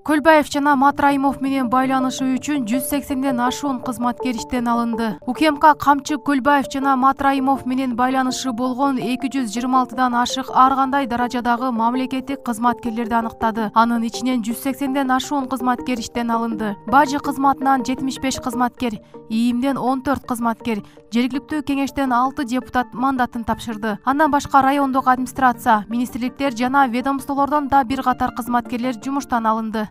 Көлбаев жана Матраимов менен байланышы үчүн 180ден ашуун кызматкер иштен алынды. УКМК Камчы Көлбаев жана Матраимов менен байланышы болгон 226дан ашык ар кандай даражадагы мамлекеттик кызматкерлерди аныктады. Анын ичинен 180ден ашуун кызматкер иштен алынды. Бажы кызматынан 75 кызматкер, ИИМден 14 кызматкер, жергиликтүү кеңештен 6 депутат мандатын тапшырды. Андан башка райондук администрация, министрликтер жана ведомстволордон да бир катар кызматкерлер жумуштан алынды.